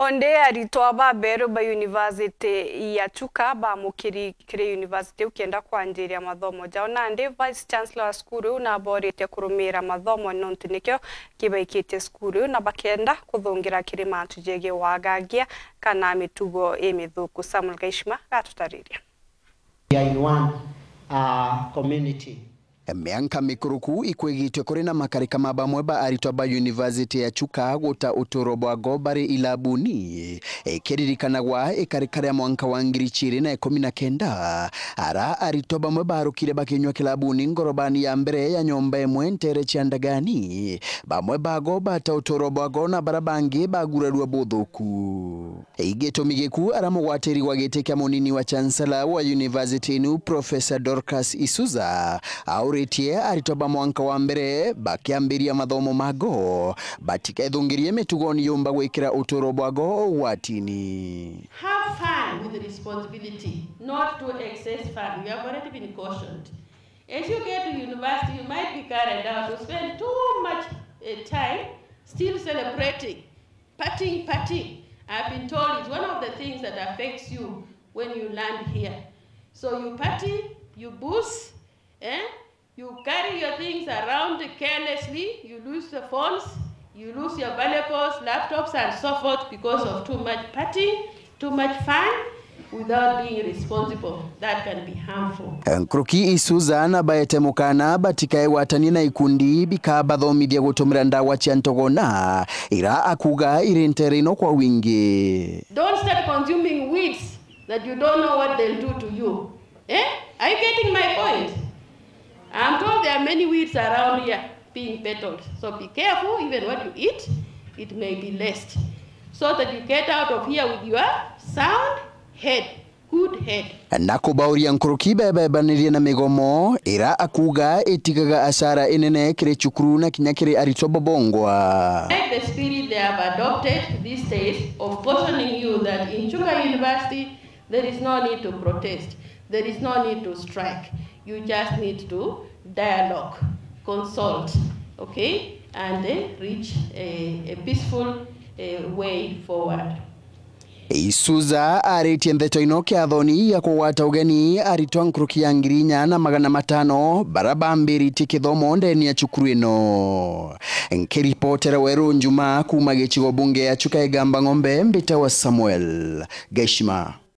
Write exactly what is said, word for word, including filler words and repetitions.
Onde aritwa baberu ba University ya Chuka bamukiri kiri university iu kenda kwanjiria mathomo jao. Nandi Vice Chancellor wa cukuru iu nabooritie kurumiira mathomo nontu nikio kibaikitie cukuru iu, na bakenda kuthungira kiri mantu jegii wagagia kana mitugo imithuku. Samuel Gaishima gatutariria. We are in one, uh, community. Mianka mikuruku ikwigitwe kuri na makarika ma bamwe ba aritwa ba University ya Chuka guta uturo bwago bari ilabuni. Ikiririkanagwa ikarika ria mwanka wa ngiri ciiri na ikumi na kenda, ara aritwa bamwe barukire bakinywa kilabuni ngorobani ya mbere ya nyomba imwe ntere cia Ndagani. Bamwe bago bata uturo bwago na bara bangi bagurarua buthuku. Igitumi giku ara mugwatiri wa giti kia munini wa Chancellor wa university inu, Professor Dorcas Isuza, auritie aritwa ba mwanka wa mbere bakiambiria mathomo mago batikethungirie mitugoni yumba gwikira uturo bwago ugwatini. Have fun with responsibility, not to excess fun. You have already been cautioned. As you get to university, you might be carried out to spend too much, eh, time still celebrating. Partying, partying, I've been told, is one of the things that affects you when you land here. So you party, you booze, eh? You carry your things around carelessly, you lose the phones, you lose your valuables, laptops, and so forth because of too much partying, too much fun, without being responsible. That can be harmful. Nkuruki Isuza na baete mukana batikaegwatanie na ikundi bikabathomithia gutumira ndawa cia ntogona, ira akuga iri ntere ino kwa wingi. Don't start consuming weeds that you don't know what they'll do to you. Eh? Are you getting my point? I'm told there are many weeds around here being peddled. So be careful, even what you eat, it may be laced. So that you get out of here with your sound head, good head. Na kubauria nkuruki bebebanirie na migomo, ira akuga itigaga asara inene kiri cukuru na kinya kiri aritwa bobongwa. Like the spirit they have adopted these days of cautioning you that in Chuka University, there is no need to protest. There is no need to strike. You just need to dialogue, consult, okay, and, eh, reach a, a peaceful, eh, way forward. Isuza aritie ndeto ino kiathoni ya kugwata ugeni aritwa nkuruki ya ngiri inya na magana matano bara bambiritie kithomo ndeni ya cukuru ino. Nkiripotera Weru Njuma kuma gicigo bunge ya Chuka Igamba Ng'ombe, mbitawa Samuel Gaishima.